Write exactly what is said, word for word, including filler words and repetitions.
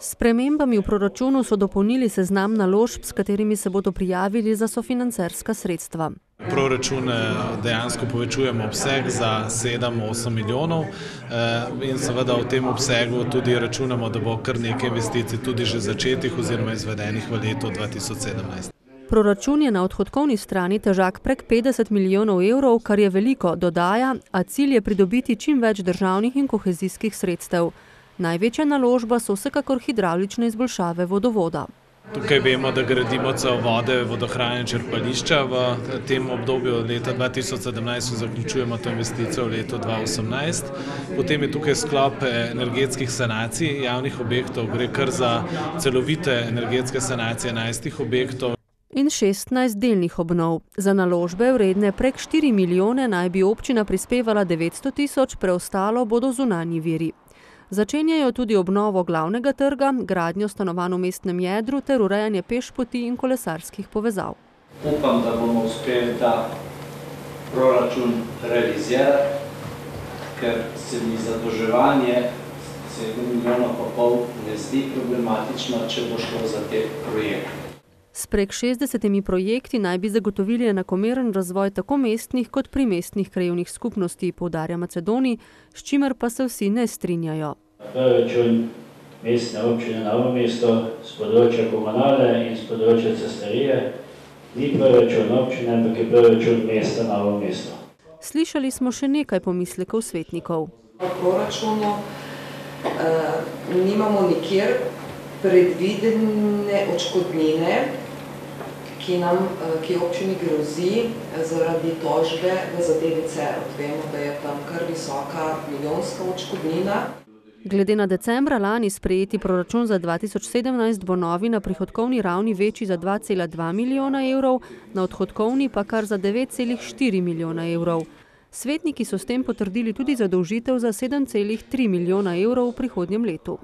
S spremembami v proračunu so dopolnili seznam naložb, s katerimi se bodo prijavili za sofinancerska sredstva. Proračune dejansko povečujemo obseg za sedem osem milijonov in seveda v tem obsegu tudi računamo, da bo kar nekaj investicij tudi že začetih oziroma izvedenih v letu dva tisoč sedemnajst. Proračun je na odhodkovni strani težak prek petdeset milijonov evrov, kar je veliko, dodaja, a cilj je pridobiti čim več državnih in kohezijskih sredstev. Največja naložba so vsekakor hidravlične izboljšave vodovoda. Tukaj vemo, da gradimo cevovode, vodohrane črpališča v tem obdobju leta dva tisoč sedemnajst, zaključujemo to investicijo v letu dva tisoč osemnajst. Potem je tukaj sklop energetskih sanacij javnih objektov, gre kar za celovite energetske sanacije enajstih objektov. In šestnajst delnih obnov. Za naložbe vredne prek štiri milijone naj bi občina prispevala devetsto tisoč, preostalo bodo zunanji viri. Začenjajo tudi obnovo glavnega trga, gradnjo stanovanj v mestnem jedru ter urejanje pešpoti in kolesarskih povezav. Upam, da bomo uspeli ta proračun realizirati, ker se mi zadolževanje sedem milijonov pa pol ne zdi problematično, če bo šlo za te projekte. S prek šestdesetimi projekti naj bi zagotovili enakomeren razvoj tako mestnih kot primestnih krajevnih skupnosti, poudarja Macedoni, s čimer pa se vsi ne strinjajo. Proračun mestne občine Novo mesto s področja komunale in s področja cestarije ni proračun občine, ampak je proračun mesta Novo mesto. Slišali smo še nekaj pomislekov svetnikov. V proračunu uh, nimamo nikjer predvidene odškodnine, ki nam, ki občini grozi zaradi tožbe v zadevi Cerod. Vemo, da je tam kar visoka milijonska odškodnina. Glede na decembra lani sprejeti proračun za dva tisoč sedemnajst bo novi na prihodkovni ravni večji za dva cela dva milijona evrov, na odhodkovni pa kar za devet celih štiri milijona evrov. Svetniki so s tem potrdili tudi zadolžitev za sedem celih tri milijona evrov v prihodnjem letu.